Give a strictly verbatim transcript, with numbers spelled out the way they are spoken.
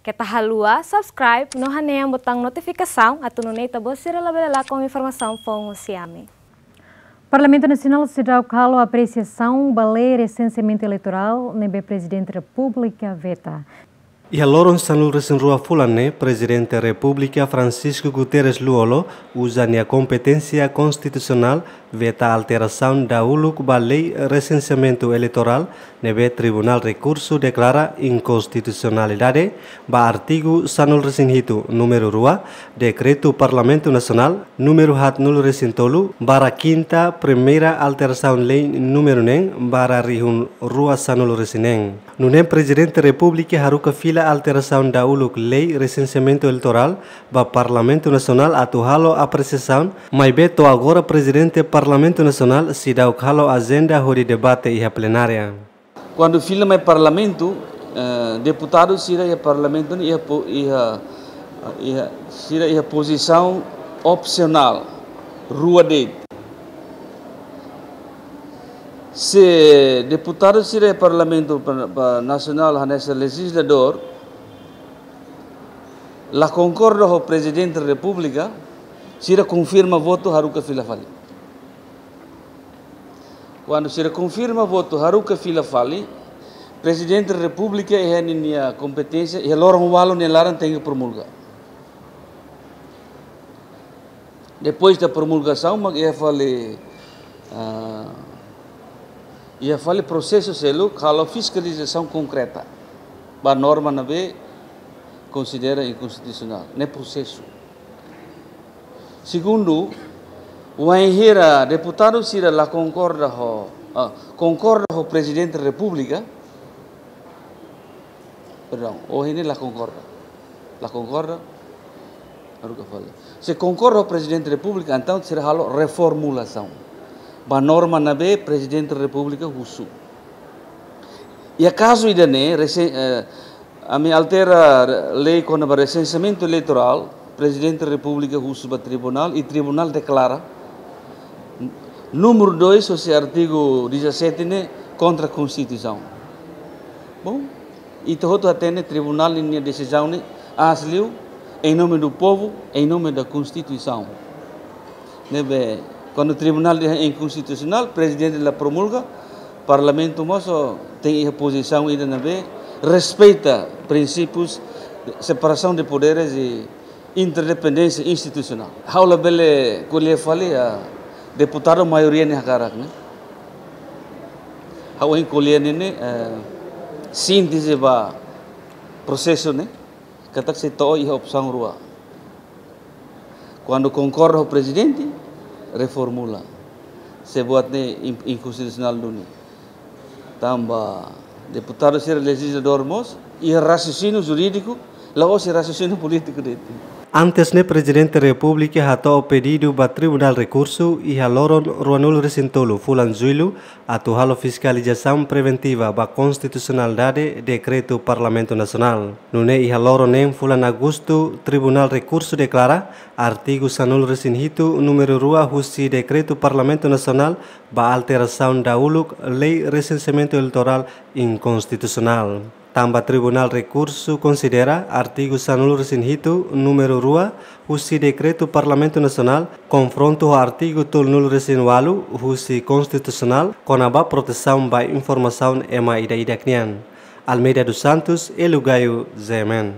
Keta haluha subscribe no hanehan botaun notifikasaun atu nune'e ita-boot sira labele lakon informasaun foun husi ami. Parlamentu Nasionál seidauk halo apresiasaun ba lei resenseamentu eleitorál ne'ebé Prezidente Repúblika veta. Iha loron sanulu-resin-rua fulan ne'e, Prezidente Repúblika Francisco Guterres Lú-Olo uza nia kompeténsia konstitusionál veta alterasaun dahuluk ba lei resenseamentu eleitorál ne'ebé Tribunál Rekursu deklara inkonstitusionalidade ba artigu sanulu-resin-hitu númeru rua Dekretu Parlamentu Nasionál númeru haatnulu-resin-tolu barra kinta primeira alterasaun lei númeru neen barra rihun rua sanulu-resin-neen. Nune'e Prezidente Repúblika haruka fila alterasaun dahuluk lei resenseamentu eleitorál ba Parlamentu Nasionál atu halo apresiasaun, maibé to'o agora Prezidente Parlamentu Nasionál seidauk halo ajenda hodi debate iha plenária. Kuandu fila mai Parlamentu, eh, deputadu sira iha Parlamentu ne'e iha po-, iha, iha, sira iha pozisaun opsionál, rua de'it. Se deputadu sira iha Parlamentu pa-, pa-, Nasionál hanesan lejizladór la konkorda ho Prezidente Repúblika, sira konfirma votu haruka fila fali. Kuandu sira konfirma votu haruka fila fali, Prezidente Repúblika iha ninia kompeténsia, iha loron ualu nia laran tenke promulga. Depois da promulgasaun, mak iha fali, ah, iha fali prosesu seluk halo fiskalizasaun konkreta ba norma ne'ebé konsidera inkonstitusionál. Ne'e prosesu. Segundu, wainhira deputadu sira la konkorda ho, ah, konkorda ho Prezidente Repúblika, perdão, ohin ne'e la konkorda. La konkorda, haruka fali. Se konkorda ho Prezidente Repúblika, entaun sira halo reformulasaun ba norma ne'ebé Prezidente Repúblika husu. Iha kazu ida-ne'e, resen-, eh, ami altera lei kona-ba resenseamentu eleitorál, Prezidente Repúblika husu ba tribunál, i tribunál deklara númeru dois, hosi artigu dezassete ne'e kontra Konstituisaun. Bom, ita hotu hatene tribunál ninia desizaun ne'e aas liu, em nome do povo, em nome da Constituição. Ne'ebé, kuandu tribunál dehan inkonstitusionál, Prezidente la promulga, Parlamentu mós tenke iha pozisaun ida ne'ebé respeita prinsípius de separação de poderes e interdependénsia institusionál. Ha'u labele ko'alia fali, ah, deputadu maioria nia hakarak ne'e. Ha'u hein ko'alia ne'e, eh, sínteze ba prosesu ne'e, katak sei to'o iha opsaun rua. Kuandu konkorda ho Prezidente, reformula. Se buat ne'e in-, inkonstitusionál duni. Tanba deputadu sira lejizladór mós, iha raciocínio jurídico, la'ós iha raciocínio político de'it. Antes ne'e Prezidente Repúblika hato'o pedidu ba Tribunál Rekursu iha loron ruanulu-resin-tolu fulan Jullu atu halo fiskalizasaun preventiva ba konstitusionalidade dekretu Parlamentu Nasionál. Nune'e iha loron neen fulan Agostu, Tribunál Rekursu deklara artigu sanulu-resin-hitu númeru rua husi dekretu Parlamentu Nasionál ba alterasaun dahuluk lei resenseamentu eleitorál inkonstitusionál. Tanba Tribunál Rekursu konsidera artigu sanulu-resin-hitu númeru rua husi dekretu Parlamentu Nasionál konfrontu ho artigu tolunulu-resin-ualu husi Konstitusionál kona-ba protesaun ba informasaun ema ida-idak nian. Almeida dos Santos, Elu Gayo, Z M N.